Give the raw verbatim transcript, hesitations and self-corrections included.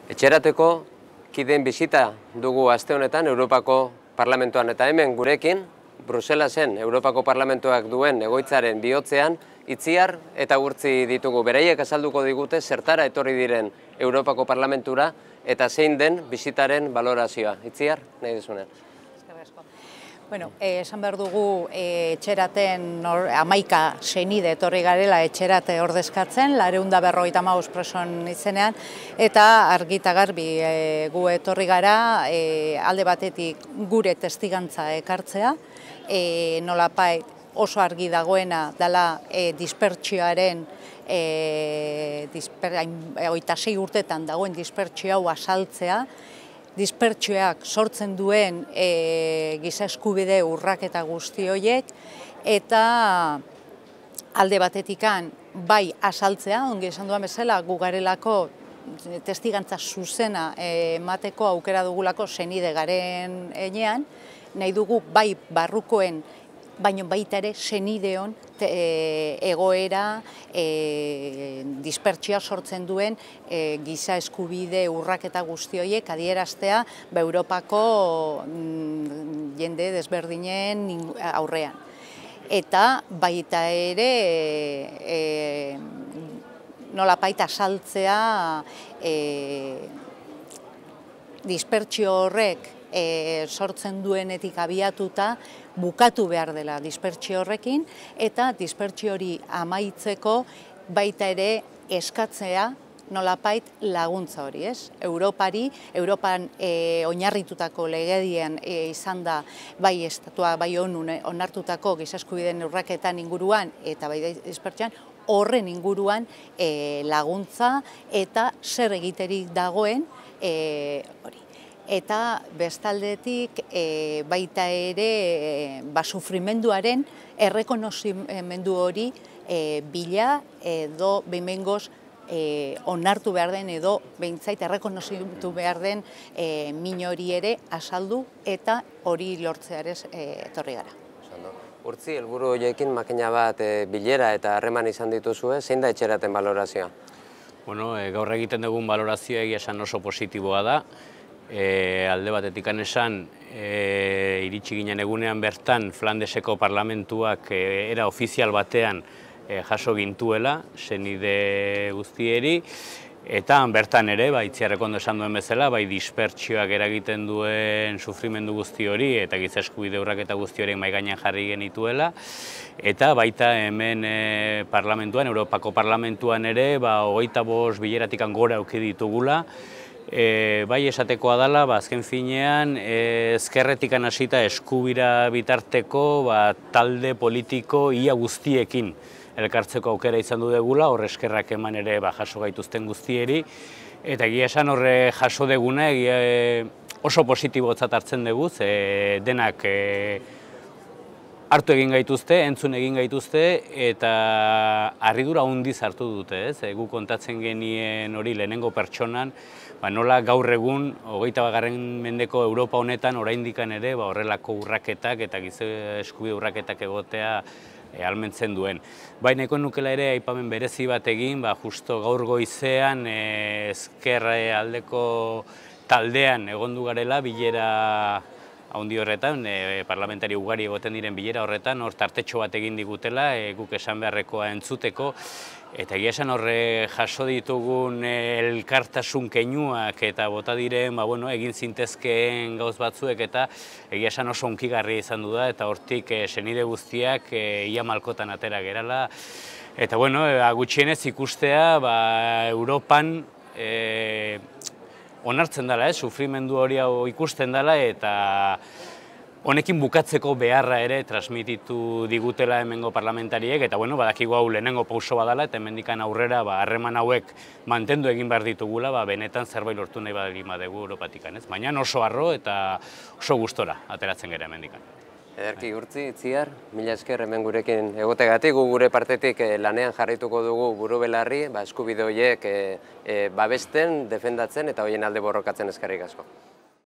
Etxerateko kideen bisita dugu aste honetan Europako Parlamentuan eta hemen gurekin, Bruselasen Europako Parlamentuak duen egoitzaren bihotzean, Itziar eta Urtzi ditugu. Beraiek azalduko digute zertara etorri diren Europako Parlamentura eta zein den bisitaren balorazioa. Itziar, nahi duzunean. Bueno, esan behar dugu etxeraten hamaika senide etorri garela etxerate ordezkatzen, laurehun eta berrogeita hamabost presoen izenean, eta argi eta garbi gu etorri gara alde batetik gure testigantza ekartzea, nolapait oso argi dagoena dela dispertsioaren hogeita sei urtetan dagoen dispertsio hau azaltzea, dispertsioak sortzen duen giza eskubide urraketa guzti horiek, eta alde batetikan bai azaltzea, ongi esan duan bezala, gu garelako testigantza zuzena emateko aukera dugulako senide garen enean, nahi dugu bai barrukoen, baina baita ere senideon egoera dispertsioa sortzen duen giza eskubide urraketa guzti horiek adieraztea Europako jende desberdinen aurrean. Eta baita ere nolapait azaltzea dispertsio horrek sortzen duenetik abiatuta bukatu behar dela dispertsio horrekin, eta dispertsio hori amaitzeko baita ere eskatzea nolapait laguntza hori, ez? Europari, Europan oinarritutako legedian izan da bai estatua, bai onun onartutako giza eskubideen urraketan inguruan eta bai dispertsioan, horren inguruan laguntza eta zer egiterik dagoen hori. Eta bestaldetik baita ere sufrimenduaren errekonozimendu hori bila edo behingoz onartu behar den edo behintzait errekonozimendu behar den min hori ere azaldu eta hori lortzearez etorri gara. Urtzi, helburu horiekin makina bat bilera eta harreman izan dituzue, zein da etxeraten balorazioa? Bueno, gaur egiten dugun balorazioa egia esan oso positiboa da. Alde batetik esan, iritsi ginen egunean bertan Flandeseko parlamentuak era ofizial batean jaso gintuela, senide guztieri, eta bertan ere, Itziarrek ondo esan duen bezala, bai dispertsioak eragiten duen sufrimendu guzti hori eta giza eskubide urraketa guzti horiek mahai gainean jarri genituela, eta baita hemen parlamentuan, Europako parlamentuan ere, hogeita bost bileratik gora auki ditugula, bai esatekoa dela, azken finean, ezkerretik hasita eskubira bitarteko talde politiko ia guztiekin elkartzeko aukera izan du degula, horre eskerrak eman ere jaso gaituzten guztieri, eta egia esan horre jaso deguna oso positibotzat hartzen dugu, denak hartu egin gaituzte, entzun egin gaituzte, eta harridura handiz hartu dute, ez? Gu kontatzen genien hori lehenengo pertsonan, nola gaur egun, hogeita bagarren mendeko Europa honetan, oraindikan ere horrelako urraketak eta giza eskubide urraketak egotea ahalmentzen duen. Baina eko nukela ere aipamen berezi bat egin, justo gaur goizean ezker aldeko taldean egondu garela bilera haundi horretan, parlamentari ugari egoten diren bilera horretan, hor tartetxo bat egin digutela, guk esan beharrekoa entzuteko, eta egia esan horre jaso ditugun elkartasun keinuak eta bota diren egin zintezkeen gauz batzuek eta egia esan oso hunkigarria izan du da, eta hortik senide guztiak ia malkotan atera gerala. Eta gutxienez ikustea Europan onartzen dela, sufrimendu hori ikusten dela, eta honekin bukatzeko beharra ere transmititu digutela hemengo parlamentariek, eta badakigu hau lehenengo pauso badala, eta hemendikan aurrera harreman hauek mantendu egin behar ditugula, benetan zerbait lortu nahi badalima dugu Europatik. Baina oso harro eta oso gustora ateratzen gara hemendikan. Ederki, Urtzi, Itziar, mila esker hemen gurekin egotegatik, gu gure partetik lanean jarrituko dugu buru belarri, eskubide horiek babesten, defendatzen eta horien alde borrokatzen eskerrik asko.